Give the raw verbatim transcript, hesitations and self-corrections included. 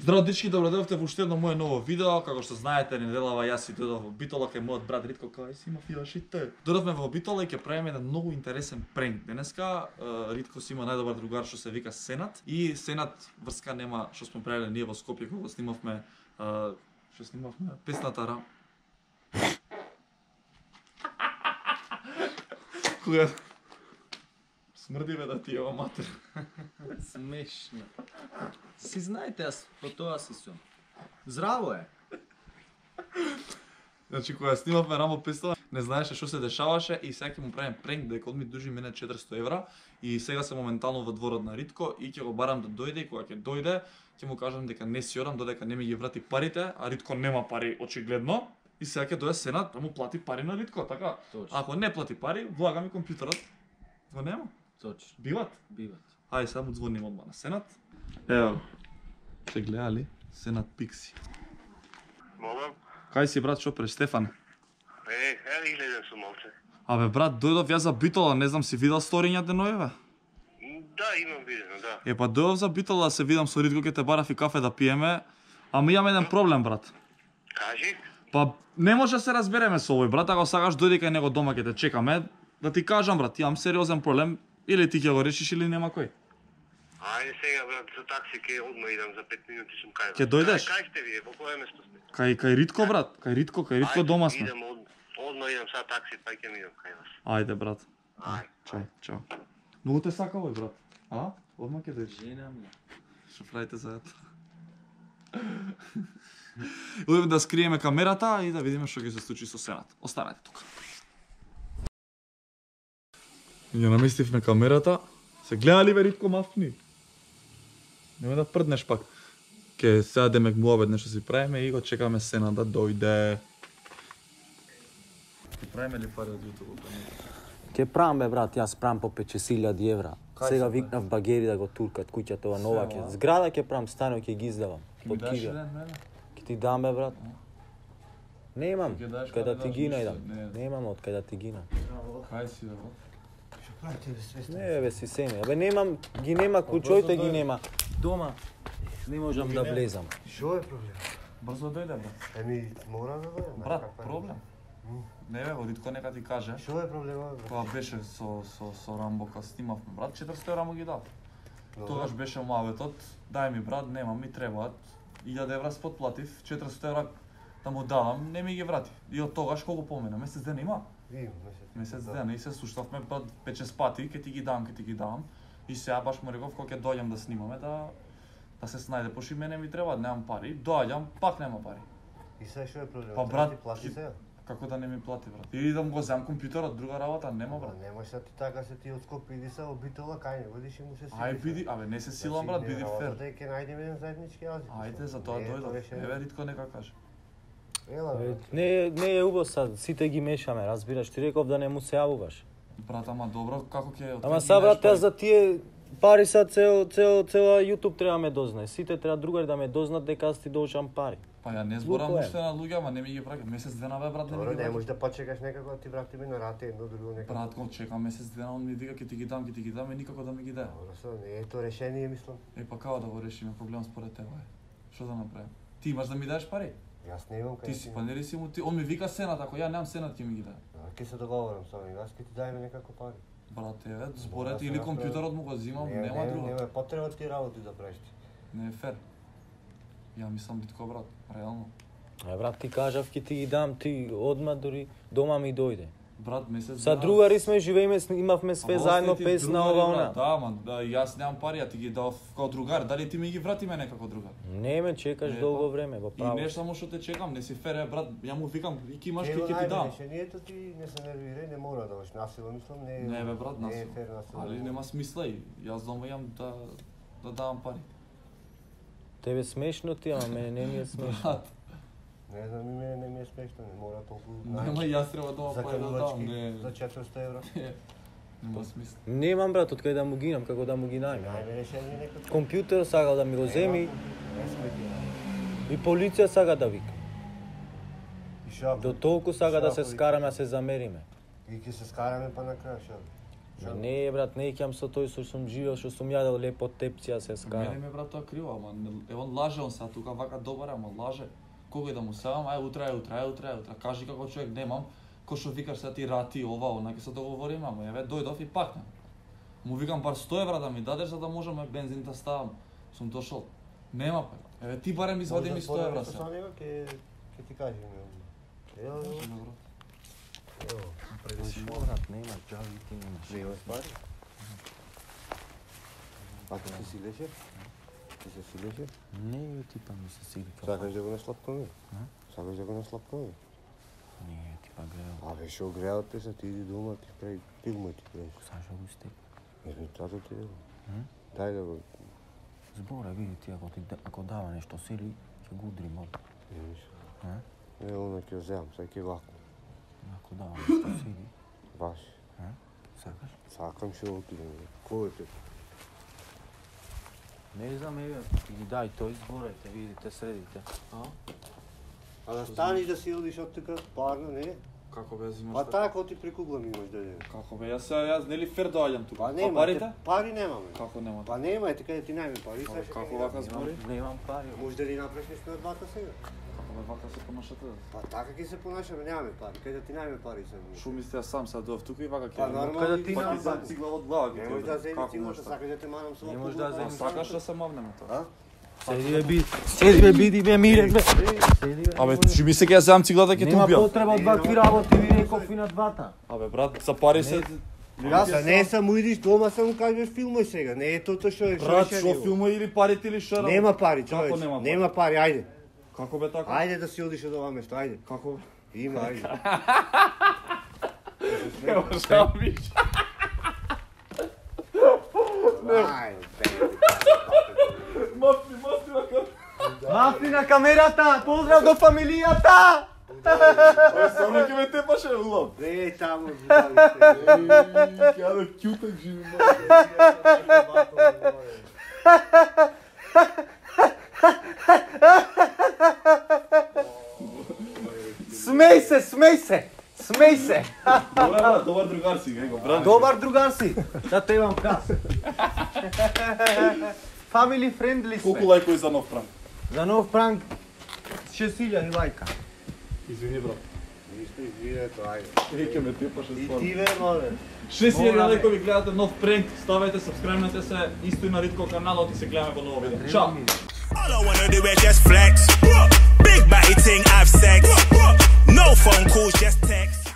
Здраво дечки, добродојавте во уште едно мое ново видео. Како што знаете, неделава јас и дојдов во Битола кај мојот брат Ритко, кај си има фијашите. Дојдовме во Битола и ќе правиме еден многу интересен пренк. Денеска Ритко си има најдобар другар што се вика Сенат и Сенат врска нема што сме правиле ние во Скопје кога снимавме што снимавме песната Рам. Кога смрди бе да ти ова матер. Смешно. Си знаете, јас по тоа си сум. Здраво е. Значи кога снимавме Рамо песната, не знаеше што се дешаваше и сега ќе му правим пренк дека од ми дужи мене четиристо евра и сега се моментално во дворот на Ритко и ќе го барам да дојде и кога ќе дојде ќе му кажам дека не си одам додека не ми ги врати парите, а Ритко нема пари очигледно и сега ќе дојде Сенат да му плати пари на Ритко, така? Точно. Ако не плати пари, влага ми компјутерот. Го нема. Точно. Биват? Биват. Ајде сега му звоним одма на Сенат. Ево. Се гледали? Сенат Пикси. Молам? Кај си брат, што преш Стефан? Е, е, излезен сум малце. Абе брат, дојдов јас за Битола, не знам си видел сторињата новиве? Да, имам видено, да. Е па дојдов за Битола да се видам со Ритко, ќе те барав и кафе да пиеме, ама имам еден проблем брат. Кажи? Па не може да се разбереме со овој брат, ако сакаш дојди кај него дома ќе те чекаме, да ти кажам брат, имам сериозен проблем, или ти ќе го решиш или нема кој. Ајде сега брат, со такси ке одма идам за пет минути сум кај вас. Ќе дојдеш? Кај сте вие? Во кое место сте? Кај кај Ритко брат, кај Ритко, кај Ритко дома сме. Идам од одма идам са такси, па ќе идам кај вас. Ајде брат. Ајде. Чај, чао. Многу те сака овој брат. А? Одма ќе дојдеш. Жена ми. Што правите заедно? Одиме да скриеме камерата и да видиме што ќе се случи со Сенат. Останете тука. Ја наместивме камерата. Се гледали бе Ритко мафни? Нема да прднеш пак. Ке седеме муабет нешто си правиме и го чекаме Сенат да дојде. Ке правиме ли пари од YouTube? Ке правам бе брат, јас правам по петдесет илјади евра. Сега викнав багери да го туркат куќата ова нова ќе. Зграда ќе правам, станов ќе ги издавам. Под кига. Ќе ти дам бе брат. Немам, кај да ти ги најдам. Немам од кај да ти ги најдам. Кај си бе? Не бе си семи, абе немам, ги нема куќоите ги нема. Дома не можам да влезам. Што е проблем? Брзо дојде бе. Еми, мора да дојдем. Брат, проблем. Не бе, Ритко нека ти каже. Што е проблемот, брат? Кога беше со со со Рамбо кога снимавме брат, четиристо евра му ги дав. Тогаш беше муабетот, дај ми брат, нема ми требаат. илјада евра спотплатив, четиристо евра да му дадам, не ми ги врати. И од тогаш колку помина, месец дена има? Имам, месец. Месец дена и се суштавме брат пет-шест пати, ќе ти ги дам, ќе ти ги дам. И сега баш му реков кога ќе доаѓам да снимаме да да се снајде, пошто и мене ми требаат, немам пари. Доаѓам, пак нема пари. И сега што е проблемот? Па, Треба брат, ти плати ки- сега? Како да не ми плати брат? Или да му го земам компјутерот, друга работа, нема брат. Бра, немој сега ти така се ти од Скопје иди са во Битола, кај него одиш и му се Ај биди, абе не се силам брат, биди фер. Да ќе најдеме еден заеднички јазик. Ајде, за тоа Не е тоа дојдов. решение. Еве Ритко нека каже. Ела, Бе, брат. Не, не е убаво сад, сите ги мешаме, разбираш, ти реков да не му се јавуваш. Брат, ама добро, како ќе... Ама са брат, јас за тие пари са цел, цел, цела YouTube треба ме дознае. Сите треба другари да ме дознат дека аз ти должам пари. Па ја не зборам Луко е. уште на луѓе, ама не ми ги праќа. Месец дена бе брат, не ми Добро, ги не праќа. можеш да почекаш некако да ти врати ми на рате едно друго некако. Брат, го чекам месец дена, он ми вика ќе ти ги дам, ќе ти ги дам и никако да ми ги даде. Добро, со, не е тоа решение, мислам. Е па како да го решиме проблем според тебе? Е? Што да направим? Ти имаш да ми дадеш пари? Јас не имам кај. Ти си, па нели си му ти, он ми вика Сенат, ако ја немам Сенат ќе ми ги даде. Ќе се договорам со него, јас ќе ти дајме некако пари. Брат, еве, зборете се или направи. компјутерот му го земам, Не, нема не, друго. Нема потреба ти работи да правиш ти. Не е фер. Ја мислам Ритко брат, реално. Е брат, ти кажав ќе ти ги дам, ти одма дури дома ми дојде. Брат, месец Са другари сме, живееме, имавме све Ама заедно остајте песна другари, ова брат. она. Да, ама да, јас немам пари, а ти ги дав како другар. Дали ти ми ги врати мене како другар? Не ме чекаш Не, долго па. време, во И право. не само што те чекам, не си фер, е, брат, ја му викам, и ки имаш, Ќе ки го ќе ти најде дам. решението, ти не се нервирај, не мора да одиш насилно, мислам, не е. Не бе брат, Не е насилно. фер насилно. Али нема смисла и јас дома имам да да давам пари. Тебе смешно ти, ама мене не ми е смешно. Брат, Не знам, и мене не ми е смешно, не мора толку. нема јас треба дома пари да давам, Заканувачки не. за четиристо евра. Нема смисла. Немам брат, од кај да му гинам, како да му ги најме. Најме решение некако. Компјутер сакал да ми го земи Не сме ти. и полиција сака да вика. И шо? До толку сака да се Шо, скараме, да се замериме. И ќе се скараме па на крај, шо? Ма не, брат, не ќе со тој што сум живеел, што сум јадел лепо тепција се скара. Мене ме брат тоа криво, ама е он лаже он сега тука вака добар, ама лаже. Кога и да му сеам, ај утре, ај утре, ај утре, ај утре. Кажи како човек немам, кој што викаш сега ти рати ова, она ќе се договориме, ама еве дојдов и пак не. Му викам бар сто евра да ми дадеш за да можеме бензин да ставам. Сум дошол. Нема пари. Еве ти барем извади ми сто евра сега. Нема ќе ќе ти кажем. Ево. Ево. Предишно брат, нема џави ти немаш. Немаш пари? А ти се силеше? Ти се силеше? Не, типа ми се сили. Сакаш да го наслапкаме? Сакаш да го наслапкаме? Не, типа грео. Абе, шо греот те са, ти иди дома, ти прави пилма ти правиш. Сашо го степ. Еми, тато ти е. Дај да го... Збора, види ти, ако, ти, ако дава нешто сили, ќе го удрим од. Еми, шо. А? Е, она ќе вземам, сега ќе вако. Ако дава нешто сили. Баш. А? Сакаш? Сакам шо отидем. Кој е те? Не знам, еве, ги дај тој зборете, видите, средите. А? А да станиш да си одиш од тука, парно, не? Како бе зимаш? Па тако ти прикуглам имаш да дадеш. Како бе, јас сега јас нели фер доаѓам тука. Па нема, парите? пари немаме. Како нема? Па нема, е така да ти најме пари. сега ќе Како ги вака дадам. збори? Немам пари. Може да ни направиш нешто на двата сега? Како бе вака се понашате? Па така ќе се понашаме, немаме пари. Кај да ти најме пари сега? Шо мислите јас сам сега дојав тука и вака ќе. Па нормално. Каде ти Па нема ти зам пари? цигла од глава ги. Не може да земи Како цигла, може? сакаш да те манам со Не оваа може да кугла, земи па, Сакаш да се мавнеме тоа? А? Седи бе, биди. Седи бе, биди бе, мире бе. Седи бе. Абе, ти ми се ќе земам циглата ќе те Нема убијам. потреба од вакви работи, ви реков и на двата. Абе брат, за пари се Јас не само идиш дома, само кажеш филмој сега. Не е тоа што е брат, што е шо шериво. филма или парите или шо? Нема пари, Како човече. нема пари? Нема пари, ајде. Како бе така? Ајде да си одиш од ова место, ајде. Како? Има, ајде. Ево што виш. Ајде. Мафи, мафи на кар. Мафи на камерата, поздрав до фамилијата! Само ќе ме тепаше улам. Бе, таму видали се. Ќе да кјутак живи. Смеј се, смеј се, смеј се. Добар брат, добар другар си, него, брат. Добар другар си, да те имам кас. Family friendly Колку сме. лајкови за нов пранк? За нов пранк шест илјади лајка. Извини брат. Ништо извинето, ајде. Е, ќе ме тепаше И стварно. ти ве, моле. шест илјади Мораме. лајкови гледате нов пранк, ставете, сабскрајбнете се, исто и на Ритко каналот и се гледаме во ново видео. Чао! All I wanna do is just flex. Big body ting, have sex. No phone calls, just text.